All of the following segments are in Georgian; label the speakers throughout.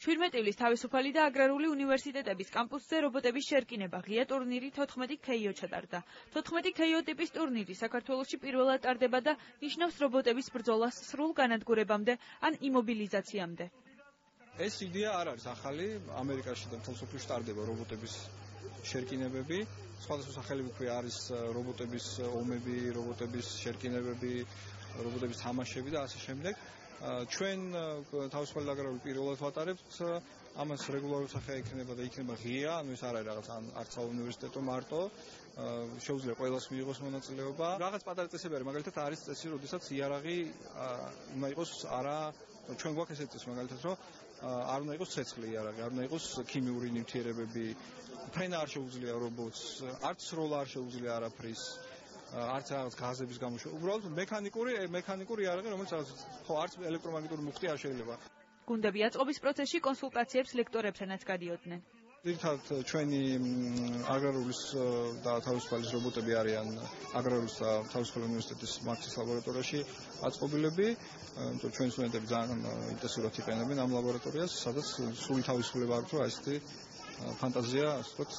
Speaker 1: 17 თავისუფალი და აგრარული უნივერსიტეტების კამპუსზე რობოტების შერკინება ღია ტურნირი 14 KO ჩატარდა. 14 KO ტიპის ტურნირი საქართველოში პირველად ტარდება და ნიშნავს რობოტების ბრძოლას სრულ განადგურებამდე ან იმობილიზაციამდე.
Speaker 2: ეს იდეა არ არის ახალი, ამერიკაში და მთელ მსოფლიოში ტარდება რობოტების შერკინებები. სხვადასხვა სახელები ქვია არის რობოტების ომები, რობოტების შერკინებები, რობოტების თამაშები და ასე შემდეგ. ჩვენ თავისუფალი აგრარული პირველად ვატარებთ, ამას რეგულარული სახე იქნება და იქნება ღია, ანუ ეს არ არის რაღაც არც უნივერსიტეტო მარტო, შეუძლია ყველას მიიღოს მონაწილეობა. რაღაც პატარა წესები არის, მაგალითად არის წესი, როდესაც იარაღი უნდა იყოს არა, ჩვენ გვაქვს ესეთი წესი, მაგალითად, რომ არ უნდა იყოს ცეცხლი იარაღი, არ უნდა იყოს ქიმიური ნივთიერებები, ფრენა არ შეუძლია რობოტს, არც სროლა არ შეუძლია არაფრის. არც რაღაც გაზების გამოშვება. უბრალოდ მექანიკური იარაღი, რომელიც ხო არც ელექტრომაგნიტური მუხტი არ შეიძლება.
Speaker 1: გუნდები აწყობის პროცესში კონსულტაციებს ლექტორებთანაც გადიოდნენ.
Speaker 2: ძირითადად ჩვენი აგრარულის და თავისუფალის რობოტები არიან აგრარულის და თავისუფალი უნივერსიტეტის მარქსის ლაბორატორიაში აწყობილები. ჩვენი სტუდენტები ძალიან ინტენსიურად იყენებენ ამ ლაბორატორიას, სადაც სრული თავისუფლება აქვს, რომ ესეთი ფანტაზია, ასე ვთქვათ,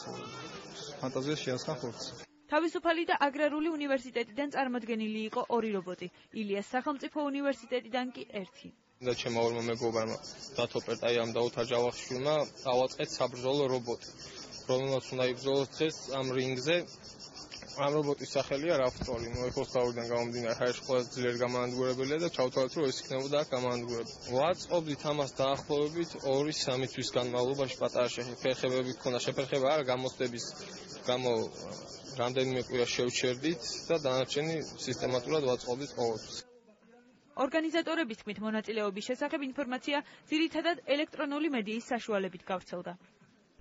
Speaker 2: ფანტაზია შეასხა ხორცს.
Speaker 1: თავისუფალი და აგრარული უნივერსიტეტიდან წარმოდგენილი იყო 2 რობოტი, ილიას სახელმწიფო უნივერსიტეტიდან კი 1.
Speaker 3: და ჩემო ორმა მეგობარმა დათო პერტაიამ და ოთარ ჯავახიშვილმა დავაწყეთ საბრძოლო რობოტი, რომელსაც უნდა იბრძოლოს დღეს ამ რინგზე. ამ რობოტის სახელია რაფტორი, ეხოსთავიდან გამომდინარე ჰაერში ყველაზე ძლიერი გამანადგურებელია და ჩავთვალეთ, რომ ეს იქნებოდა გამანადგურებელი. ვაწყობდით ამას დაახლოებით 2-3 თვის განმავლობაში პატარა შეფერხებები ჰქონდა, შეფერხება არა გამოცდების გამო რამდენიმე კვირა შევჩერდით და დანარჩენი სისტემატურად ვაწყობდით ყოველთვის.
Speaker 1: ორგანიზატორების თქმით, მონაწილეობის შესახებ ინფორმაცია ძირითადად ელექტრონული მედიის საშუალებით გავრცელდა.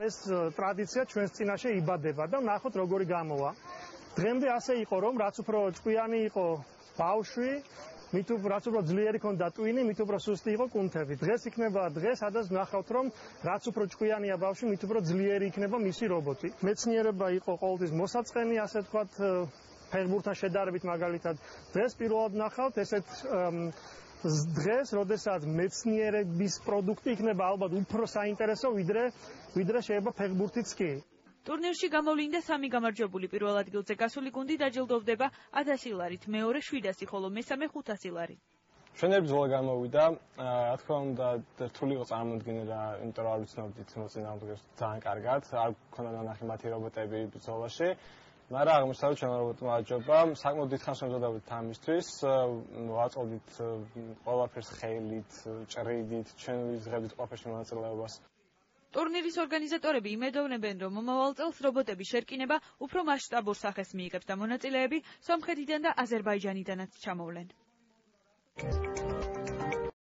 Speaker 4: ეს ტრადიცია ჩვენს წინაშე იბადება და ნახოთ როგორი გამოვა. დღემდე ასე იყო, რომ რაც უფრო ჭკვიანი იყო ბავშვი, რაც უფრო ძლიერი ქონდა ტვინი, მით უფრო სუსტი იყო კუნთები. დღეს იქნება დღე, სადაც ნახავთ, რომ რაც უფრო ჭკვიანია ბავშვი, მით უფრო ძლიერი იქნება მისი რობოტი. მეცნიერება იყო ყოველთვის მოსაწყენი, ასე ვთქვათ, ფეხბურთთან შედარებით მაგალითად. დღეს პირველად ნახავთ ესეთ დღეს, როდესაც მეცნიერების პროდუქტი იქნება ალბათ უფრო საინტერესო, ვიდრე შეიძლება ფეხბურთიც კი.
Speaker 1: ტურნირში გამოვლინდა 3 გამარჯვებული, პირველ ადგილზე გასული გუნდი დაჯილდოვდება 1000 ლარით, მეორე 700, ხოლო მესამე 500 ლარი.
Speaker 5: ჩვენები ბრძოლა გამოვიდა, რა თქმა უნდა, რთული იყო წარმოდგენა, იმიტომ რომ არ ვიცნობდით მოწინააღმდეგეს ძალიან კარგად, არ გქონდა ნანახი მათი რობოტები ბრძოლაში. მაგრამ აღმოჩნდა, რომ ჩვენმა რობოტმა აჯობა, საკმაოდ დიდხანს ვემზადებოდით ამისთვის, ვაწყობდით ყველაფერს ხელით, ჭრიდით, ჩვენ ვიზღებდით ყველაფერში მონაწილეობას.
Speaker 1: ტურნირის ორგანიზატორები იმედოვნებენ, რომ მომავალ წელს რობოტების შერკინება უფრო მასშტაბურ სახეს მიიღებს და მონაწილეები სომხეთიდან და აზერბაიჯანიდანაც ჩამოვლენ.